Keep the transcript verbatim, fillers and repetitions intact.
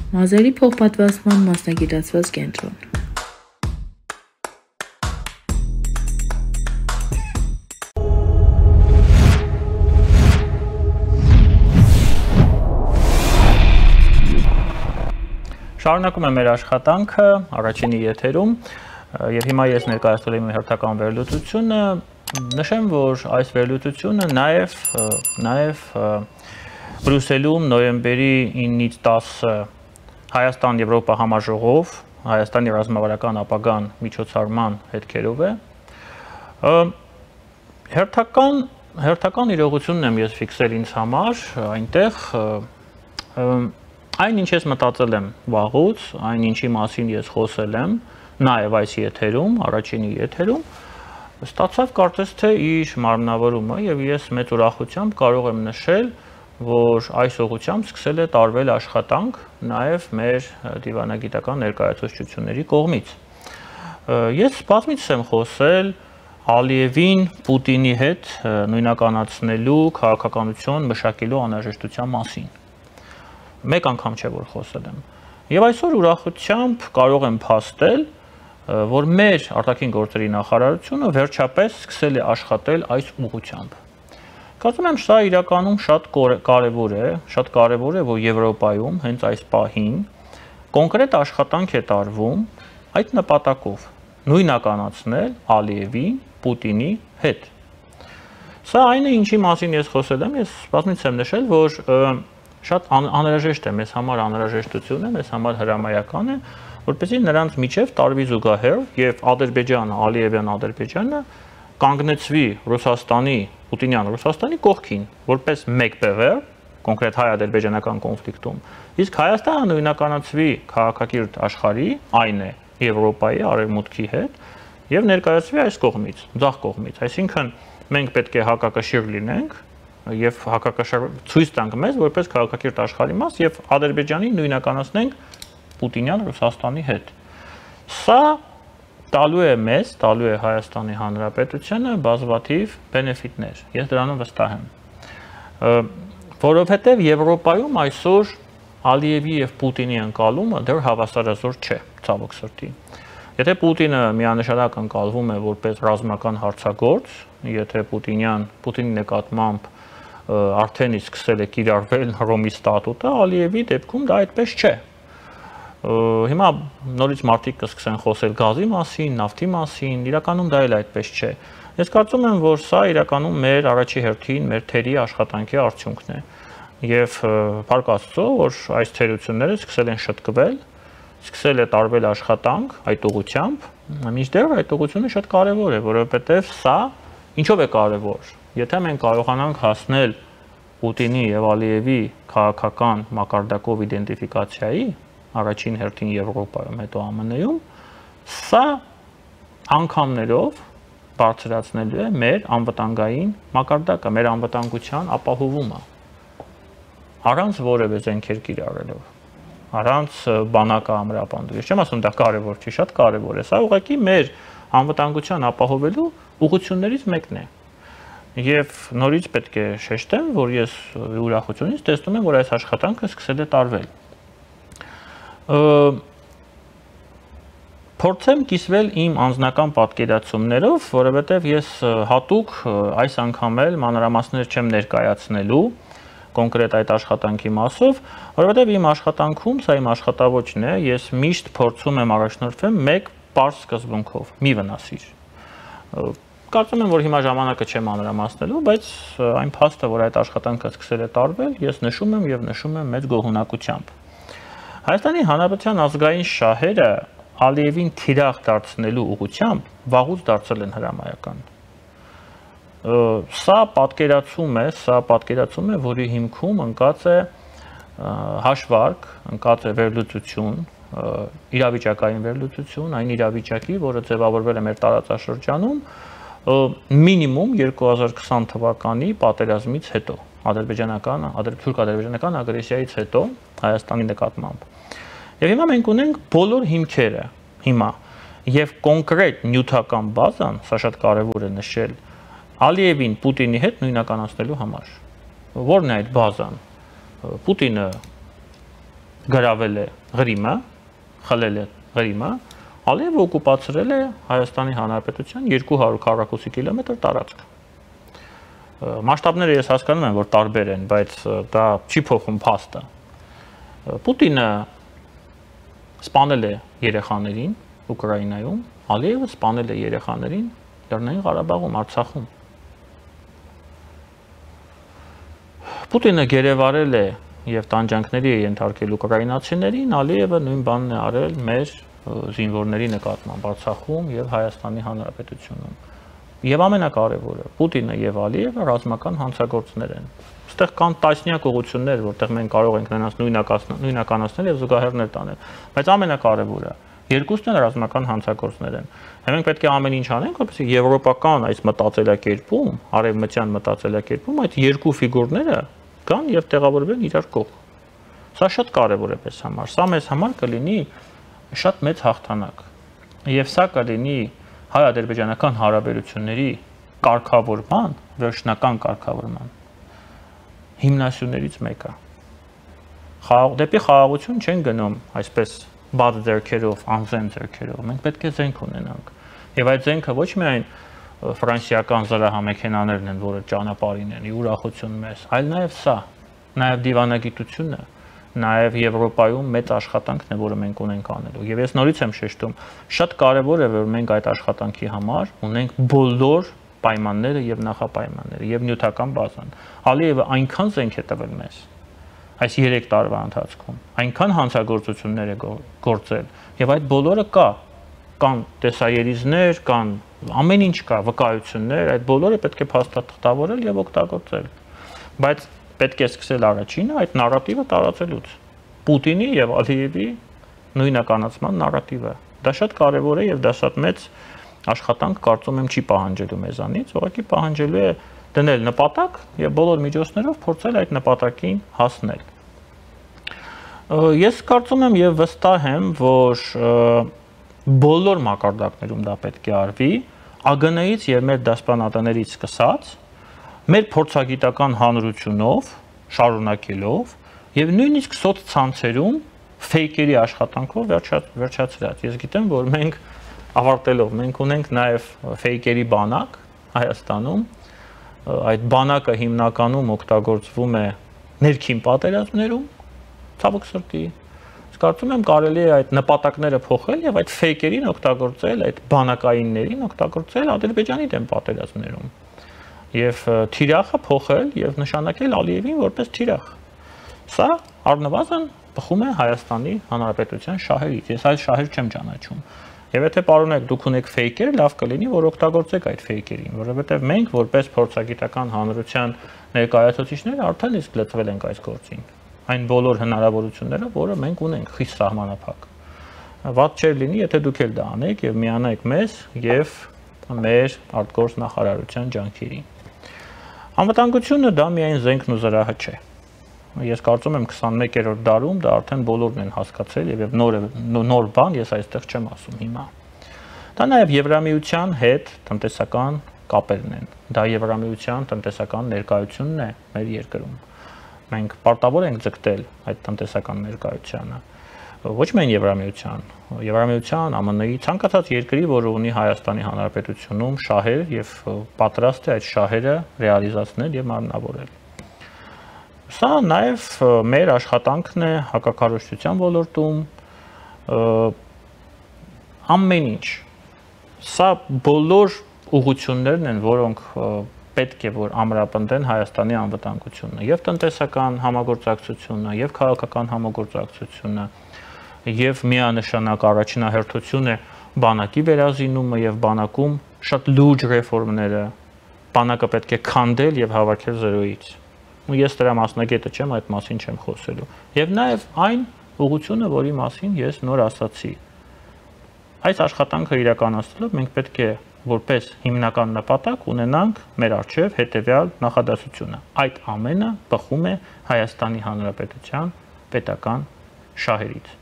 Մազերի փոխպատվաստման մասնագիտացված կենտրոն։ Շարունակում եմ մեր աշխատանքը առաջինի եթերում եւ հիմա ես ներկայացրել եմ հերթական վերլուծությունը, նշեմ, որ այս վերլուծությունը նաեւ նաեւ Բրյուսելում նոյեմբերի ինից տասը Հայաստան-Եվրոպա համաժողով, Հայաստանի ռազմավարական ապագան միջոցառման հետքերով է։ Հերթական հերթական իրողությունն եմ ես ֆիքսել ինձ համար, այնտեղ այն ինչ ես մտածել եմ վաղուց, այն ինչի մասին ես խոսել եմ, նաև այս եթերում, առաջինի եթերում, ստացավ կարծես թե իր մարմնավորումը եւ ես մեծ ուրախությամբ կարող եմ նշել, որ այս ուղղությամբ սկսել է տարվել աշխատանք նաև մեր դիվանագիտական ներկայացուցչությունների կողմից։ Ես բազմիցս եմ խոսել Ալիևին Պուտինի հետ նույնականացնելու քաղաքականություն մշակելու անհրաժեշտության մասին։ Մեկ անգամ չէ որ խոսել եմ։ Եվ այսօր ուրախությամբ կարող եմ փաստել, որ մեր արտաքին գործերի նախարարությունը վերջապես սկսել է աշխատել այս ուղղությամբ։ Կարծում եմ սա իրականում շատ կարևոր է, շատ կարևոր է, որ Եվրոպայում հենց այս պահին կոնկրետ աշխատանք է տարվում այդ նպատակով՝ նույնականացնել Ալիևին Պուտինի հետ։ Սա այն է, ինչի մասին ես խոսել եմ, ես բազմիցս եմ նշել, որ շատ անհրաժեշտ է, մեզ համար անհրաժեշտություն է, մեզ համար հրամայական է, որպեսզի նրանց միջև տարվի զուգահեռ եւ Ադրբեջանը, Ալիևյան Ադրբեջանը կանգնեցվի Ռուսաստանի, Պուտինյան Ռուսաստանի կողքին, որպես մեկ բևեռ, կոնկրետ հայ-ադրբեջանական կոնֆլիկտում, իսկ Հայաստանը նույնականացվի քաղաքակիրթ աշխարհի, այն է Եվրոպայի արևմուտքի հետ եւ ներկայացվի այս կողմից, ձախ կողմից, այսինքն մենք պետք է հակակշիռ լինենք եւ հակակշիռ ցույց տանք մեզ որպես քաղաքակիրթ աշխարհի մաս եւ Ադրբեջանին նույնականացնենք Պուտինյան Ռուսաստանի հետ։ Սա տալու է մեզ, տալու է Հայաստանի Հանրապետությանը բազմաթիվ բենեֆիտներ։ Ես դրանում վստահ եմ։ Որովհետեւ Եվրոպայում այսօր Ալիևի եւ Պուտինի ընկալումը դեռ հավասարազոր չէ, ցավոք սրտի։ Եթե Պուտինը միանշանակ ընկալվում է որպես ռազմական հարցագործ, եթե Պուտինյան Պուտինի նկատմամբ արդեն իսկ սկսել է կիրառվել Հռոմի ստատուտը, Ալիևի դեպքում դա այդպես չէ։ Հիմա նորից մարդիկ կսկսեն խոսել գազի մասին, նավթի մասին, իրականում դա էլ այդպես չէ։ Ես կարծում եմ, որ սա իրականում մեր առաջի հերթին մեր թերի աշխատանքի արդյունքն է։ Եվ փառք Աստծո, որ այս թերությունները սկսել են շտկվել, սկսել է տարվել աշխատանք այդ ուղղությամբ, մինչդեռ այդ ուղղությունը շատ կարևոր է, որովհետև սա ինչով է կարևոր։ Եթե մենք կարողանանք հասնել Պուտինի եւ Ալիևի քաղաքական մակարդակով իդենտիֆիկացիայի, առաջին հերթին Եվրոպայում, հետո Α M N-ում, սա անգամներով բարձրացնելու է մեր անվտանգային մակարդակը, մեր անվտանգության ապահովումը, առանց որևէ զենքեր կիրառելով, առանց բանակը ամրապնդելու։ Ես չեմ ասում դա կարևոր չի, շատ կարևոր է։ Սա ուղղակի մեր անվտանգության ապահովելու ուղղություններից մեկն է։ Եվ նորից պետք է շեշտեմ, որ ես ուրախությունից տեսնում եմ, որ այս աշխատանքը սկսել է տարվել։ Փորձեմ կիսվել իմ անձնական պատկերացումներով, որովհետև ես հատուկ այս անգամ էլ մանրամասներ չեմ ներկայացնելու կոնկրետ այդ աշխատանքի մասով, որովհետև իմ աշխատանքում, սա իմ աշխատավոճն է, ես միշտ փորձում եմ առաջնորդվել մեկ պարզ սկզբունքով՝ մի վնասիր։ Կարծում եմ, որ հիմա ժամանակը չեմ մանրամասնելու, բայց այն փաստը, որ այդ աշխատանքը սկսել է տարվել, ես նշում եմ եւ նշում եմ մեծ գոհունակությամբ։ Հայաստանի Հանրապետության ազգային շահերը Ալիևին թիրախ դարձնելու ուղղությամբ վաղուց դարձել են հրամայական։ Սա պատկերացում է, սա պատկերացում է, որի հիմքում ընկած է հաշվարկ, ընկած է վերլուծություն, իրավիճակային վերլուծություն, այն իրավիճակի, որը ձևավորվել է մեր տարածաշրջանում մինիմում երկու հազար քսան թվականի պատերազմից հետո, ադրբեջանական, թուրք-ադրբեջանական ագրեսիայից հետո Հայաստանի նկատմամբ։ Եվ հիմա մենք ունենք բոլոր հիմքերը, հիմա, եւ կոնկրետ նյութական բազան, սա շատ կարեւոր է նշել, Ալիևին Պուտինի հետ նույնականացնելու համար։ Որն է այդ բազան։ Պուտինը գրավել է Ղրիմը, խլել է Ղրիմը, Ալիևը օկուպացրել է Հայաստանի Հանրապետության երկու հարյուր քառակուսի կիլոմետր տարածք։ Մասշտաբները ես հասկանում եմ, որ տարբեր են, բայց դա չի փոխում փաստը։ Պուտինը սպանել է երեխաներին Ուկրաինայում, Ալիևը սպանել է երեխաներին Լեռնային Ղարաբաղում, Արցախում։ Պուտինը գերեվարել է եւ տանջանքների է ենթարկել ուկրաինացիներին, Ալիևը նույն բանն է արել մեր զինվորների նկատմամբ Արցախում եւ Հայաստանի Հանրապետությունում։ Եվ ամենակարևորը, Պուտինը եւ Ալիևը ռազմական հանցագործներ են։ Այստեղ կան տասնյակ ուղղություններ, որտեղ մենք կարող ենք նրանց նույնականացնել եւ զուգահեռներ տանել, բայց ամենակարևորը, երկուսն էլ ռազմական հանցագործներ են։ Մենք պետք է ամեն ինչ անենք, որպեսզի եվրոպական այս մտածելակերպում, արևմտյան մտածելակերպում այդ երկու ֆիգուրները գան եւ տեղավորվեն իրար կողմ։ Սա շատ կարեւոր է մեզ համար։ Սա մեզ համար կլինի շատ մեծ հաղթանակ։ Եվ սա կլինի հայ-ադրբեջանական հարաբերությունների կարգավորման, վերջնական կարգավորման հիմնասյուներից մեկը։ Դեպի խաղաղություն չեն գնում այսպես բաց ձեռքերով, անզեն ձեռքերով։ Մենք պետք է զենք ունենանք։ Եվ այդ զենքը ոչ միայն ֆրանսիական զրահամեքենաներն են, որը ճանապարհին են, ուրախություն մեզ, այլ նաև սա, նաև դիվանագիտությունը, նաև Եվրոպայում մեծ աշխատանքն է, որը մենք ունենք անելու։ Եվ ես նորից եմ շեշտում, շատ կարևոր է, որ մենք այդ աշխատանքի համար ունենք բոլոր պայմանները եւ նախապայմանները եւ նյութական բազան։ Ալիևը այնքան զենք է տվել մեզ այս երեք տարվա ընթացքում, այնքան հանցագործություններ է գործել եւ այդ բոլորը կա, կան տեսաերիզներ, կան ամեն ինչ կա, վկայություններ, այդ բոլորը պետք է փաստաթղթավորել եւ օգտագործել։ Բայց պետք է սկսել առաջինը այդ նարատիվը տարածելուց։ Պուտինի եւ Ալիևի նույնականացման նարատիվը։ Դա շատ կարեւոր է եւ դա շատ մեծ աշխատանք կարծում եմ չի պահանջելու մեզանից, ուղղակի պահանջելու է դնել նպատակ եւ բոլոր միջոցներով փորձել այդ նպատակին հասնել։ Ես կարծում եմ եւ վստահ եմ, որ բոլոր մակարդակներում դա պետք է արվի, ԱԳՆ-ից եւ մեր դասպանատներից սկսած, մեր փորձագիտական հանրությունով, շարունակելով եւ նույնիսկ սոցցանցերում ֆեյքերի աշխատանքով վերջացրած։ Ես գիտեմ, որ մենք ավարտելով մենք ունենք նաեւ ֆեյքերի բանակ Հայաստանում, այդ բանակը հիմնականում օգտագործվում է ներքին պատերազմներում, ցավոք սրտի։ Կարծում եմ կարելի է այդ նպատակները փոխել եւ այդ ֆեյքերին օգտագործել, այդ բանակայիններին օգտագործել Ադրբեջանի դեմ պատերազմներում։ Եվ թիրախը փոխել եւ նշանակել Ալիևին որպես թիրախ։ Սա առնվազն բխում է Հայաստանի Հանրապետության շահերից։ Ես այլ շահեր չեմ ճանաչում։ Եվ եթե պարոնեք դուք ունեք ֆեյքեր, լավ կլինի, որ օգտագործեք այդ ֆեյքերին, որովհետեւ մենք որպես փորձագիտական հանրության ներկայացուցիչներ արդեն իսկ լծվել ենք այս գործին։ Այն բոլոր հնարավորությունները, որը մենք ունենք խիստ սահմանափակ։ Վատ չէր լինի, եթե դուք էլ դա անեք եւ միանայիք մեզ եւ մեր արտգործ նախարարության ջանքերին։ Անվտանգությունը դա միայն զենքն ու զրահը չէ։ Ես կարծում եմ քսանմեկերորդ դարում դա արդեն բոլորն են հասկացել եւ նոր նոր բան ես այստեղ չեմ ասում հիմա։ Դա նաեւ Եվրամիության հետ տնտեսական կապերն են։ Դա Եվրամիության տնտեսական ներկայությունն է մեր երկրում։ Մենք պարտավոր ենք ձգտել այդ տնտեսական ներկայությանը։ Ոչ միայն Եվրամիության, Եվրամիության, ԱՄՆ-ի ցանկացած երկրի, որը ունի Հայաստանի Հանրապետությունում շահեր եւ պատրաստ է այդ շահերը ռեալիզացնել եւ մարմնավորել։ Սա նաեւ մեր աշխատանքն է հակակառուցչության ոլորտում, ամեն ինչ։ Սա բոլոր ուղղություններն են, որոնք պետք է որ ամրապնդեն Հայաստանի անվտանգությունը եւ տնտեսական համագործակցությունը եւ քաղաքական համագործակցությունը եւ միանշանակ առաջնահերթություն է բանակի վերազինումը եւ բանակում շատ լուրջ ռեֆորմները բանակը պետք է քանդել եւ հավաքել զրոյից ու ես դրա մասնագետը չեմ, այդ մասին չեմ խոսելու եւ նաեւ այն ուղղությունը, որի մասին ես նոր ասացի այս աշխատանքը իրականացնելով մենք պետք է որպես հիմնական նպատակ ունենանք մեր առջև հետևյալ նախադասությունը։ Այդ ամենը բխում է Հայաստանի Հանրապետության պետական շահերից։